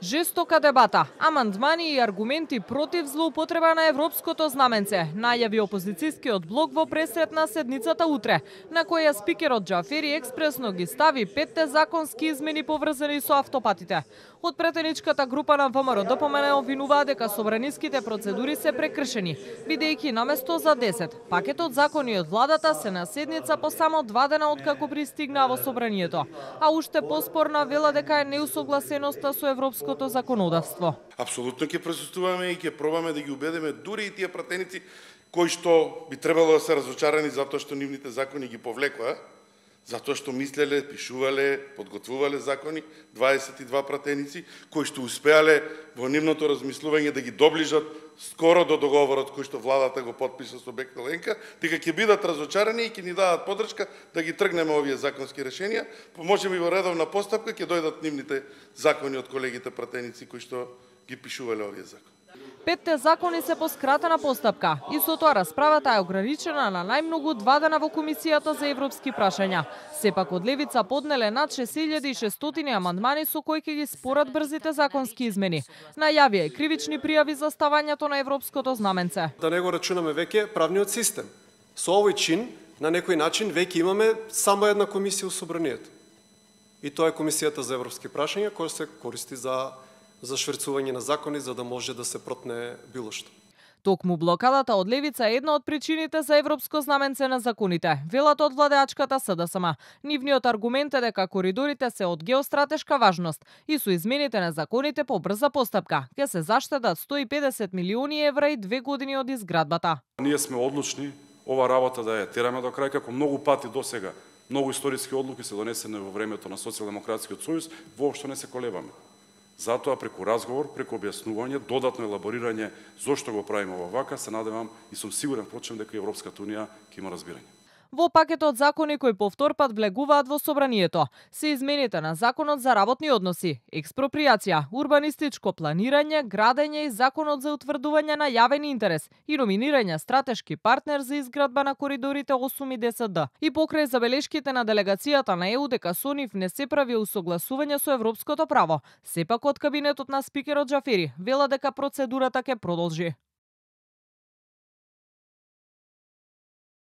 Жестока дебата, амандмани и аргументи против злоупотреба на европското знаменце, најави опозицијскиот блок во пресрет на седницата утре, на која спикерот Џафери експресно ги стави 5 законски измени поврзани со автопатите. Од претеничката група на ВМРО ДПМН обвинуваа дека собраниските процедури се прекршени, бидејќи наместо за 10, пакетот закони од владата се на седница по само 2 дена откако пристигнаа во собранието, а уште поспорна вела дека е неусогласеноста со европското законодавство. Апсолутно ќе присуствуваме и ќе пробаме да ги убедиме дури и тие пратеници кои што би требало да се разочарани затоа што нивните закони ги повлекоа, затоа што мислеле, пишувале, подготвувале закони, 22 пратеници, кои што успеале во нивното размислување да ги доближат скоро до договорот кој што владата го потписа со Бехтел Енка, дека ќе бидат разочарани и ќе ни дадат поддршка да ги тргнеме овие законски решенија, можеби во редовна постапка ќе дојдат нивните закони од колегите пратеници кои што ги пишувале овие закони. 5 закони се по скратена постапка и со тоа расправата е ограничена на најмногу 2 дена во Комисијата за европски прашања. Сепак од левица поднеле над 6600 амандмани со кои ќе ги спорат брзите законски измени. Најавија и кривични пријави за ставањето на европското знаменце. Да не го рачунаме веќе правниот систем. Со овој чин, на некој начин, веќе имаме само една комисија во собранието. И тоа е Комисијата за европски прашања, која се користи за шверцување на закони, за да може да се протне било што. Токму блокадата од левица е една од причините за европско знаменце на законите, велат од владеачката СДСМ. Нивниот аргумент е дека коридорите се од геостратешка важност и со измените на законите по брза постапка ќе се заштедат 150 милиони евра и 2 години од изградбата. Ние сме одлучни ова работа да ја тераме до крај, како многу пати досега. Многу историски одлуки се донесени во времето на Социјалдемократскиот сојуз, воопшто не се колебаме. Затоа преку разговор, преку објаснување, додатно елаборирање зошто го правиме вака, се надевам и сум сигурен впрочем дека Европската унија ќе има разбирање. Во пакетот закони кои повтор пат влегуваат во собранието се измените на Законот за работни односи, експропријација, урбанистичко планирање, градење и Законот за утврдување на јавен интерес и номинирање стратешки партнер за изградба на коридорите 8 и 10Д. И покрај забелешките на делегацијата на ЕУ дека со нив не се прави усогласување со европското право, сепак од кабинетот на спикерот Џафери вела дека процедурата ќе продолжи.